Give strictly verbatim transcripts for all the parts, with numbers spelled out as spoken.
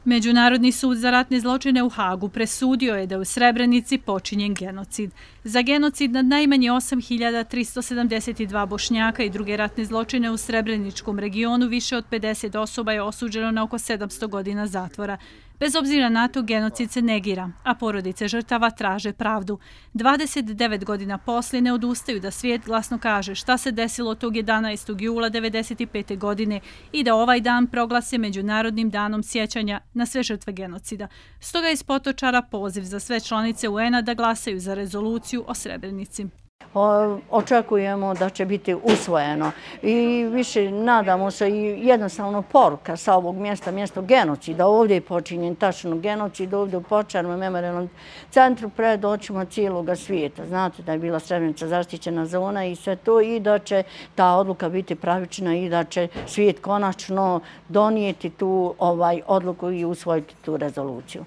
Međunarodni sud za ratne zločine u Hagu presudio je da je u Srebrenici počinjen genocid. Za genocid nad najmanje osam hiljada tristo sedamdeset dva Bošnjaka i druge ratne zločine u Srebreničkom regionu više od pedeset osoba je osuđeno na oko sedamsto godina zatvora. Bez obzira na to, genocid se negira, a porodice žrtava traže pravdu. dvadeset devet godina poslije ne odustaju da svijet glasno kaže šta se desilo tog jedanaestog jula devedeset pete godine i da ovaj dan proglase Međunarodnim danom sjećanja na sve žrtve genocida. Stoga je iz Potočara poziv za sve članice U N-a da glasaju za rezoluciju o Srebrenici. Očekujemo da će biti usvojeno i više nadamo se i jednostavno poruka sa ovog mjesta, mjesto genocida. Ovdje je počinjen tačno genocid, ovdje u Potočarskom memorijalnom centru pred očima cijelog svijeta. Znate da je bila Srebrenica zaštićena zona i sve to i da će ta odluka biti pravična i da će svijet konačno donijeti tu ovaj odluku i usvojiti tu rezoluciju.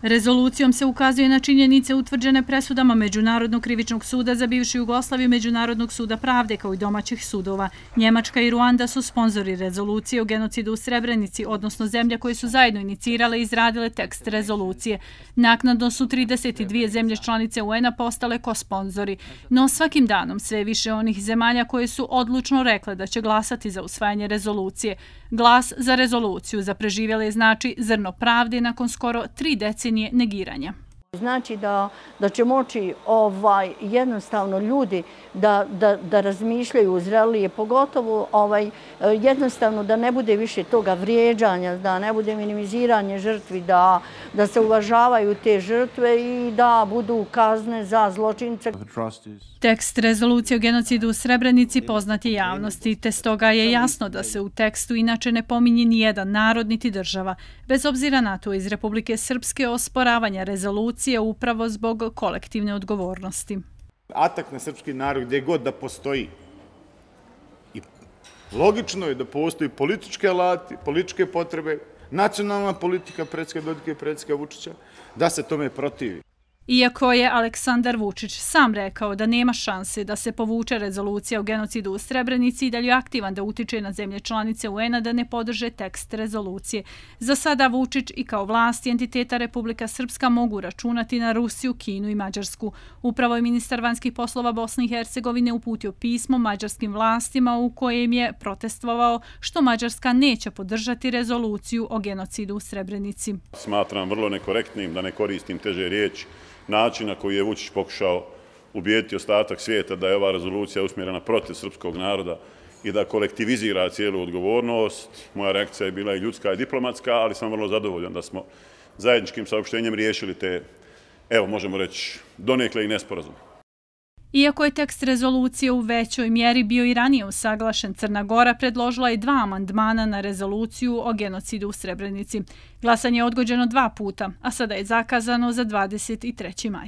Rezolucijom se ukazuje na činjenice utvrđene presudama Međunarodnog krivičnog suda za bivšu Jugoslaviju, Međunarodnog suda pravde kao i domaćih sudova. Njemačka i Ruanda su sponzori rezolucije o genocidu u Srebrenici, odnosno zemlje koje su zajedno inicirale i izradile tekst rezolucije. Naknadno su trideset dvije zemlje članice U N-a postale kosponzori, no svakim danom sve više onih zemalja koje su odlučno rekle da će glasati za usvajanje rezolucije. Glas za rezoluciju za preživjele znači zrno pravde nakon skoro tri decenije negiranja. Znači da, da će moći ovaj, jednostavno ljudi da, da, da razmišljaju zrelije, pogotovo ovaj, jednostavno da ne bude više toga vrijeđanja, da ne bude minimiziranje žrtvi, da, da se uvažavaju te žrtve i da budu kazne za zločince. Tekst rezolucije o genocidu u Srebrenici poznat je javnosti, te stoga je jasno da se u tekstu inače ne pominje ni jedan narod niti država. Bez obzira na to, iz Republike Srpske osporavanja rezolucije upravo zbog kolektivne odgovornosti. Atak na srpski narod gdje god da postoji. I logično je da postoji političke alati, političke potrebe, nacionalna politika predsjednika Dodika i predsjednika Vučića, da se tome protivi. Iako je Aleksandar Vučić sam rekao da nema šanse da se povuče rezolucija o genocidu u Srebrenici i da je aktivan da utiče na zemlje članice U N-a da ne podrže tekst rezolucije. Za sada Vučić i kao vlast i entiteta Republika Srpska mogu računati na Rusiju, Kinu i Mađarsku. Upravo je ministar vanjskih poslova Bosne i Hercegovine uputio pismo mađarskim vlastima u kojem je protestovao što Mađarska neće podržati rezoluciju o genocidu u Srebrenici. Smatram vrlo nekorektnim da ne koristim teže riječi način na koji je Vučić pokušao ubijediti ostatak svijeta da je ova rezolucija usmjerena protiv srpskog naroda i da kolektivizira cijelu odgovornost. Moja reakcija je bila i ljudska i diplomatska, ali sam vrlo zadovoljan da smo zajedničkim saopštenjem riješili te, evo možemo reći, donekle i nesporazum. Iako je tekst rezolucije u većoj mjeri bio i ranije usaglašen, Crna Gora predložila je dva amandmana na rezoluciju o genocidu u Srebrenici. Glasanje je odgođeno dva puta, a sada je zakazano za dvadeset treći maj.